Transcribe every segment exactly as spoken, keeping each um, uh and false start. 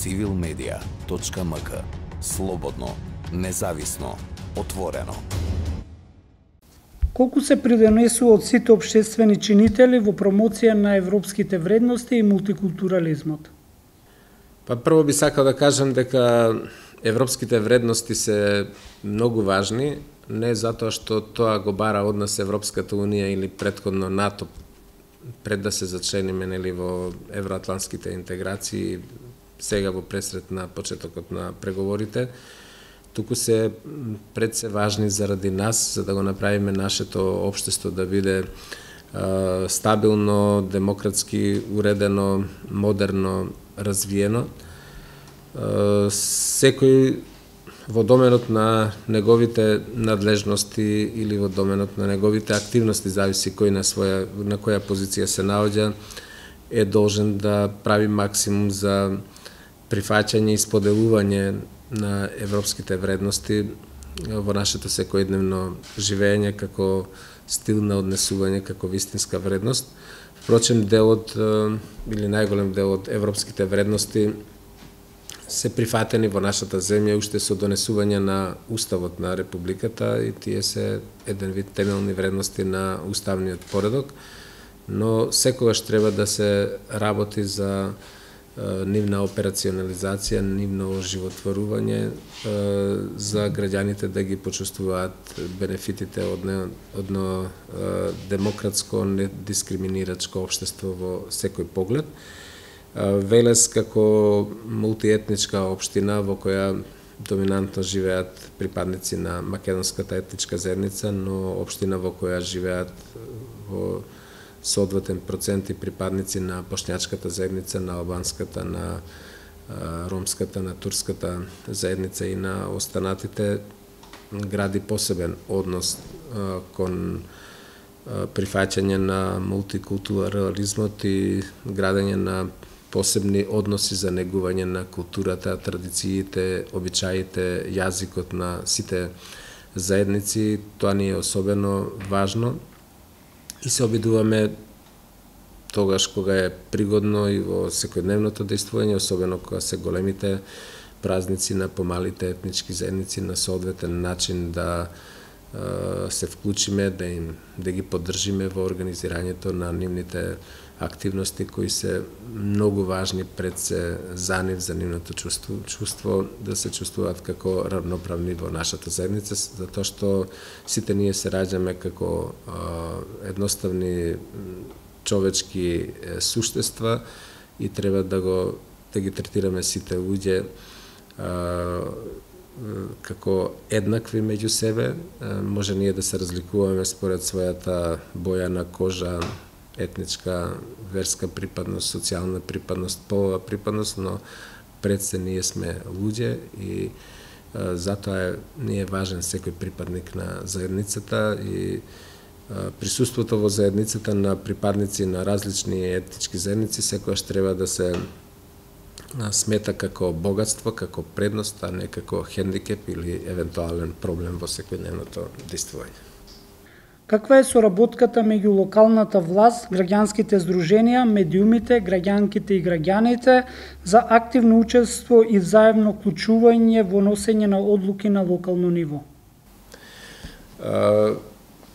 цивил медија точка ем ка. Слободно, независно, отворено. Колку се придонесува од сите општествени чинители во промоција на европските вредности и мултикултурализмот? Па прво би сакал да кажам дека европските вредности се многу важни, не затоа што тоа го бара од нас Европската Унија или претходно НАТО пред да се зачлениме нели во евроатлантските интеграции, сега во пресрет на почетокот на преговорите, туку се пред се важни заради нас, за да го направиме нашето општество да биде а, стабилно, демократски, уредено, модерно, развиено. А, секој во доменот на неговите надлежности или во доменот на неговите активности, зависи кој на своја на која позиција се наоѓа, е должен да прави максимум за прифаќање и споделување на европските вредности во нашето секојдневно живење како стил на однесување, како вистинска вредност. Впрочем, делот или најголем дел од европските вредности се прифатени во нашата земја уште со донесување на Уставот на Републиката и тие се еден вид темелни вредности на уставниот поредок, но секогаш треба да се работи за нивна операционализација, нивно оживотворување, за граѓаните да ги почувствуваат бенефитите од едно демократско, недискриминирачко општество во секој поглед. Велес како мултиетничка општина во која доминантно живеат припадници на македонската етничка заедница, но општина во која живеат во соодветен процент и припадници на бошњачката заедница, на албанската, на ромската, на турската заедница и на останатите, гради посебен однос кон прифаќање на мултикултурализмот и градење на посебни односи за негување на културата, традициите, обичаите, јазикот на сите заедници. Тоа ни е особено важно и се обидуваме тогаш кога е пригодно и во секојдневното дејствување, особено кога се големите празници на помалите етнички заедници, на соодветен начин да се вклучиме, да им да ги поддржиме во организирањето на нивните активности кои се многу важни пред се за нив, за нивното чувство, чувство да се чувствуваат како равноправни во нашата заедница, затоа што сите ние се раѓаме како а, едноставни човечки суштества и треба да го да ги третираме сите луѓе а, како еднакви меѓу себе. Може ние да се разликуваме според својата боја на кожа, етничка, верска припадност, социјална припадност, полова припадност, но пред се ние сме луѓе и а, затоа е, ни е важен секој припадник на заедницата и а, присуството во заедницата на припадници на различни етнички заедници секогаш треба да се смета како богатство, како предност, а не како хендикеп или евентуален проблем во секојдневното дејствување. Каква е соработката меѓу локалната власт, граѓанските здруженија, медиумите, граѓанките и граѓаните за активно учество и взаемно вклучување во носење на одлуки на локално ниво?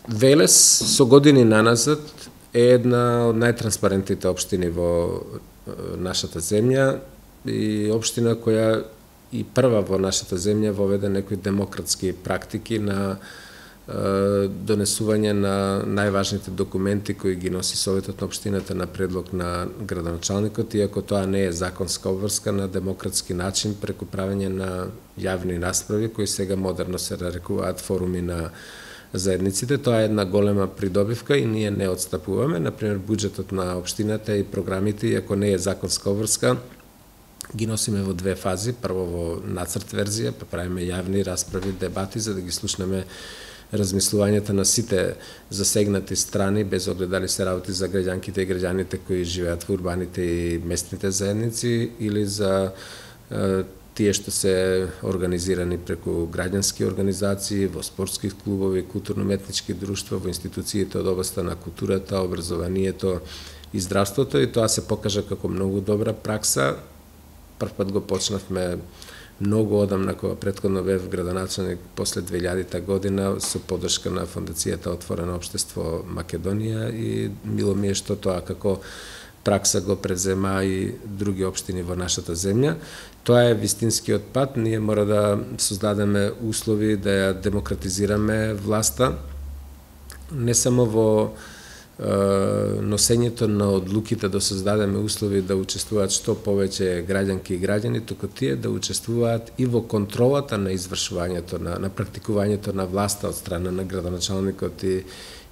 Велес со години наназад е една од најтранспарентните општини во нашата земја и општина која и прва во нашата земја воведе некои демократски практики на донесување на најважните документи кои ги носи Советот на општината на предлог на градоначалникот, иако тоа не е законска обврска, на демократски начин преку правење на јавни расправи кои сега модерно се нарекуваат форуми на заедниците. Тоа е една голема придобивка и ние не отстапуваме. Например, буџетот на општината и програмите, иако не е законска обврска, ги носиме во две фази. Прво во нацрт верзија, па правиме јавни расправи, дебати за да ги слушнеме размислувањата на сите засегнати страни, без оглед дали се работи за граѓанките и граѓаните кои живеат во урбаните и местните заедници или за е, тие што се организирани преку граѓански организации, во спортски клубови, културно-метнички друштва, во институциите од областа на културата, образованието и здравството, и тоа се покажа како многу добра пракса прв пат го почнавме многу одамна, кога претходно бев градоначалник после две илјадета година со поддршка на Фондацијата Отворено општество Македонија, и мило ми е што тоа како пракса го презема и други општини во нашата земја. Тоа е вистинскиот пат. Ние мора да создадеме услови да ја демократизираме власта, не само во е, носењето на одлуките, да создадеме услови да учествуваат што повеќе граѓанки и граѓани, туку тие да учествуваат и во контролата на извршувањето, на, на практикувањето на власта од страна на градоначалникот и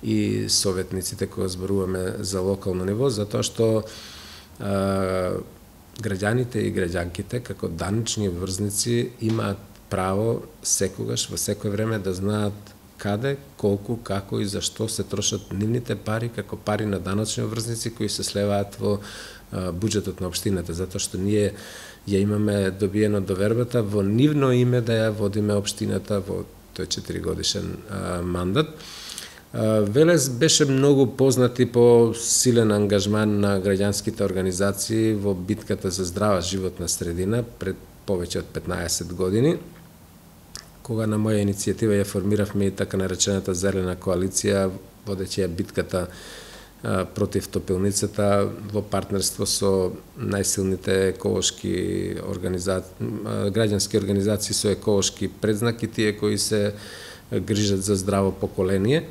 и советниците кога зборуваме за локално ниво, затоа што а, граѓаните и граѓанките како данични обврзници имаат право секогаш, во секое време да знаат каде, колку, како и зашто се трошат нивните пари како пари на даночни обврзници кои се слеваат во а, буџетот на општината, затоа што ние ја имаме добиено довербата во нивно име да ја водиме општината во тој четиригодишен а, мандат. Велес беше многу познат и по силен ангажман на граѓанските организации во битката за здрава животна средина пред повеќе од петнаесет години, кога на моја иницијатива ја формиравме и така наречената Зелена коалиција, водејќи ја битката а, против топилницата во партнерство со најсилните еколошки организации, граѓански организации со еколошки предзнак и тие кои се грижат за здраво поколение.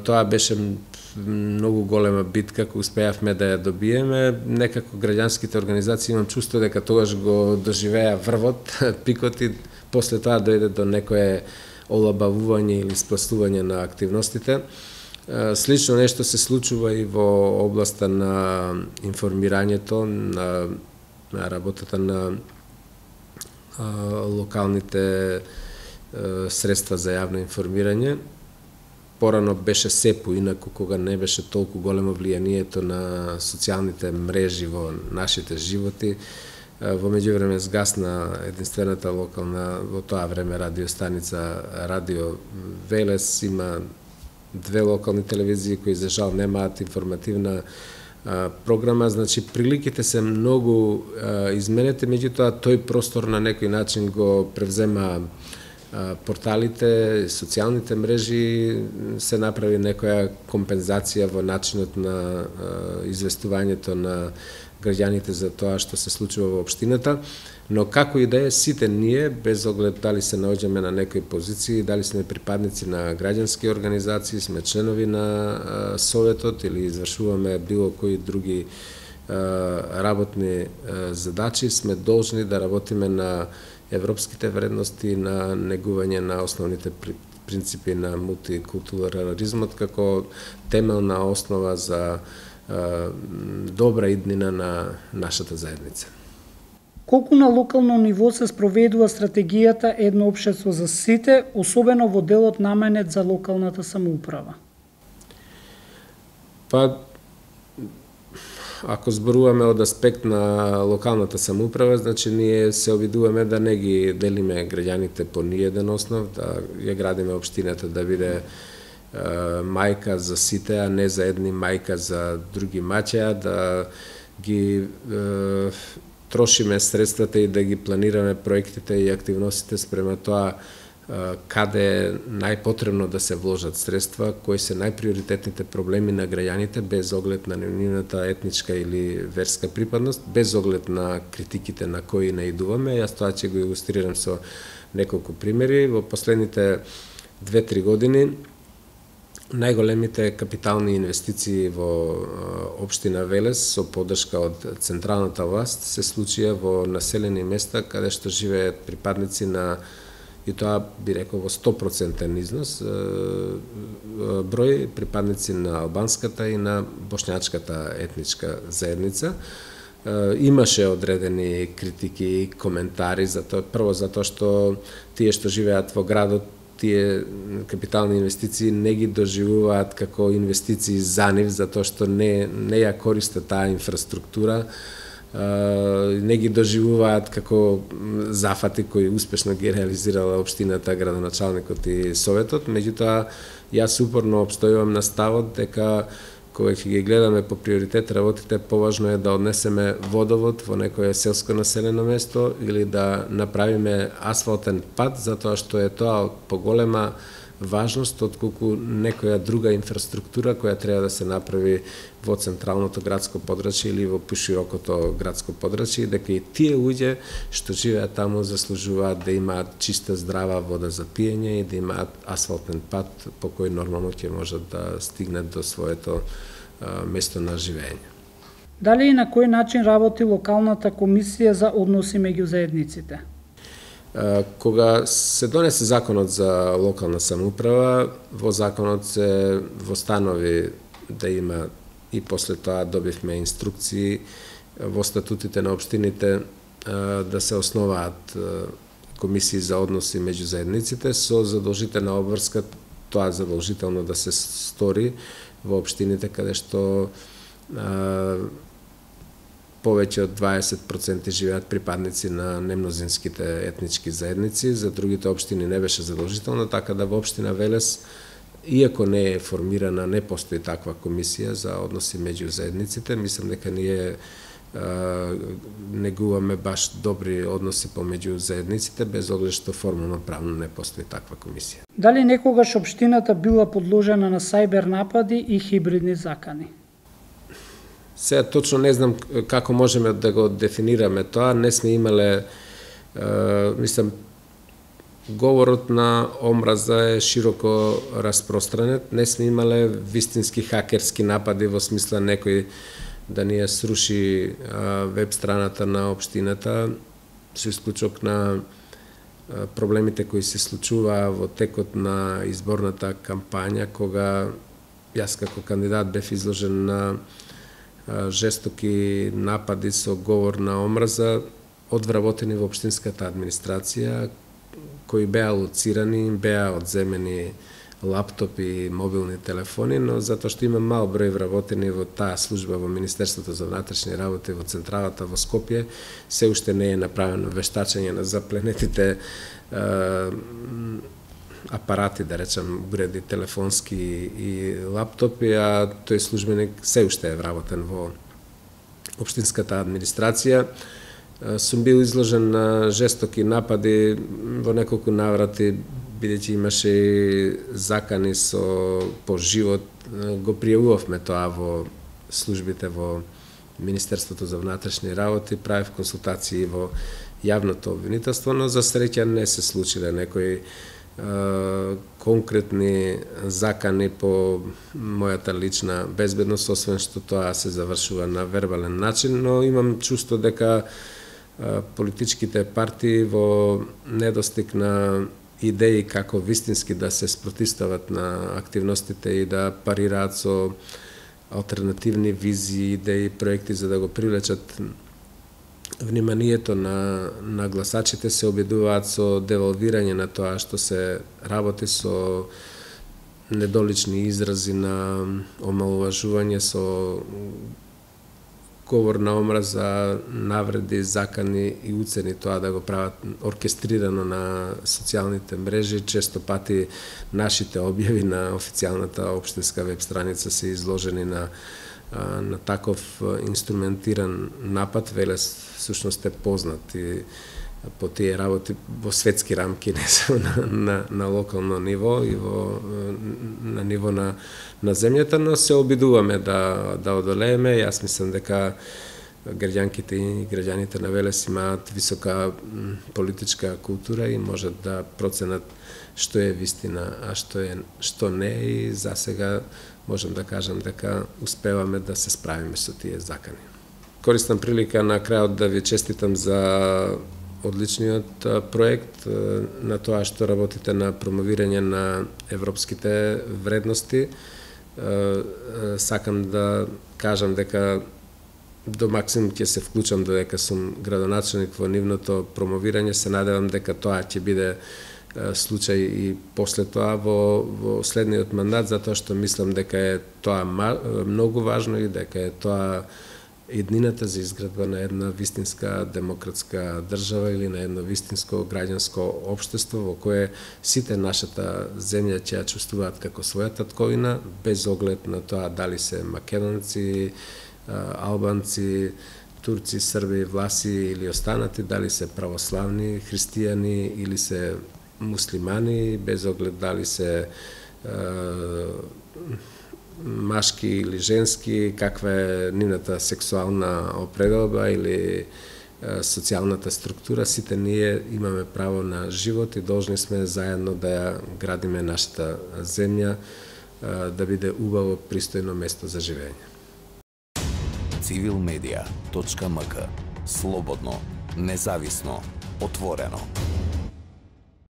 Тоа беше многу голема битка, која успеавме да ја добиеме. Некако граѓанските организации, имам чувство дека тогаш го доживеа врвот, пикот, и после тоа дојде до некое олабавување или спластување на активностите. Слично нешто се случува и во областа на информирањето, на, на работата на а, локалните а, средства за јавно информирање. Порано беше СЕПУ, инаку кога не беше толку големо влијанието на социјалните мрежи во нашите животи. Во меѓувреме згасна единствената локална во тоа време радиостаница Радио Велес, има две локални телевизии кои за жал немаат информативна а, програма, значи приликите се многу а, изменети, меѓутоа тој простор на некој начин го превзема порталите, социјалните мрежи, се направи некоја компензација во начинот на известувањето на граѓаните за тоа што се случува во општината, но како и да е, сите ние, без оглед дали се наоѓаме на некои позиции, дали сме припадници на граѓански организации, сме членови на советот или извршуваме било кои други работни задачи, сме должни да работиме на европските вредности, на негување на основните принципи на мултикултурализмот како темелна основа за а, добра иднина на нашата заедница. Колку на локално ниво се спроведува стратегијата Едно општество за сите, особено во делот наменет за локалната самоуправа? Па, ако зборуваме од аспект на локалната самоуправа, значи ние се обидуваме да не ги делиме граѓаните по ниеден основ, да ја градиме општината да биде е, мајка за сите, а не за едни мајка за други маќа, да ги е, трошиме средствата и да ги планираме проектите и активностите спрема тоа каде е најпотребно да се вложат средства, кои се најприоритетните проблеми на граѓаните, без оглед на нивната етничка или верска припадност, без оглед на критиките на кои наидуваме. Јас тоа ќе го илустрирам со неколку примери. Во последните две-три години најголемите капитални инвестиции во општина Велес со поддршка од централната власт се случија во населени места каде што живеат припадници на, и тоа би рекол во сто проценти износ, број припадници на албанската и на бошњачката етничка заедница. Имаше одредени критики и коментари за тоа, прво затоа што тие што живеат во градот, тие капитални инвестиции не ги доживуваат како инвестиции за нив, затоа што не, не ја користат таа инфраструктура, не ги доживуваат како зафати кои успешно ги реализирала општината, градоначалникот и советот. Меѓутоа, јас упорно обстојувам на ставот дека кога ќе ги гледаме по приоритет работите, поважно е да однесеме водовод во некое селско населено место или да направиме асфалтен пат, затоа што е тоа од поголема важност отколку некоја друга инфраструктура која треба да се направи во централното градско подрачје или во поширокото градско подрачје, дека и тие луѓе што живеат таму заслужуваат да имаат чиста, здрава вода за пиење и да имаат асфалтен пат по кој нормално ќе можат да стигнат до своето а, место на живење. Дали и на кој начин работи локалната комисија за односи меѓу заедниците? Кога се донесе законот за локална самоуправа, во законот се востанови да има и после тоа добивме инструкции во статутите на општините да се основаат комисии за односи меѓу заедниците со задолжителна обврска, тоа задолжително да се стори во општините каде што повеќе од дваесет проценти живеат припадници на немнозинските етнички заедници, за другите општини не беше задолжително, така да во општина Велес, иако не е формирана, не постои таква комисија за односи меѓу заедниците, мислам дека ние а, негуваме баш добри односи помеѓу заедниците, без оглед што формално правно не постои таква комисија. Дали некогаш општината била подложена на сајбер напади и хибридни закани? Сега точно не знам како можеме да го дефинираме тоа, не сме имале, е, мислам, говорот на омраза е широко распространет, не сме имале вистински хакерски напади во смисла некој да ни ја сруши веб страната на општината, со исклучок на проблемите кои се случуваа во текот на изборната кампања, кога јас како кандидат бев изложен на жестоки напади со говор на омраза од вработени во општинската администрација, кои беа лоцирани, беа одземени лаптопи и мобилни телефони, но затоа што има мал број вработени во таа служба во Министерството за внатрешни работи во централата во Скопје, се уште не е направено вештачење на запленетите апарати, да речем, уреди телефонски и лаптопи, а тој службеник се уште е вработен во општинската администрација. Сум бил изложен на жестоки напади во неколку наврати, бидејќи имаше и закани со по живот. Го пријавувавме тоа во службите во Министерството за внатрешни работи, правев консултации во јавното обвинителство, но за среќа не се случиле некои конкретни закани по мојата лична безбедност, освен што тоа се завршува на вербален начин, но имам чувство дека политичките партии во недостиг на идеи како вистински да се спротивстават на активностите и да парираат со алтернативни визии, идеи, проекти за да го привлечат вниманието на, на гласачите, се обидуваат со девалвирање на тоа што се работи, со недолични изрази на омалуважување, со говор на омраза, навреди, закани и уцени, тоа да го прават оркестрирано на социјалните мрежи. Често пати нашите објави на официјалната општинска веб страница се изложени на на таков инструментиран напад. Велес всушност е познат и по тие работи во светски рамки, не само на, на, на локално ниво и во, на ниво на, на земјата, но се обидуваме да, да одолееме. Јас мислам дека граѓанките и граѓаните на Велес имаат висока политичка култура и можат да проценат што е вистина, а што е што не, и за сега можам да кажам дека успеваме да се справиме со тие закани. Користам прилика на крајот да ви честитам за одличниот проект, на тоа што работите на промовирање на европските вредности. Сакам да кажам дека до максимум ќе се вклучам додека сум градоначелник во нивното промовирање. Се надевам дека тоа ќе биде случај и после тоа во, во следниот мандат, затоа што мислам дека е тоа многу важно и дека е тоа еднината за изградба на една вистинска демократска држава или на едно вистинско граѓанско општество во кое сите нашата земја ќе ја чувствуваат како своја татковина, без оглед на тоа дали се македонци, албанци, турци, срби, власи или останати, дали се православни, христијани или се муслимани, без оглед дали се машки или женски, каква е нивната сексуална определба или социјалната структура, сите ние имаме право на живот и должни сме заедно да ја градиме нашата земја, да биде убаво, пристојно место за живење. цивил медија точка ем ка. Слободно, независно, отворено.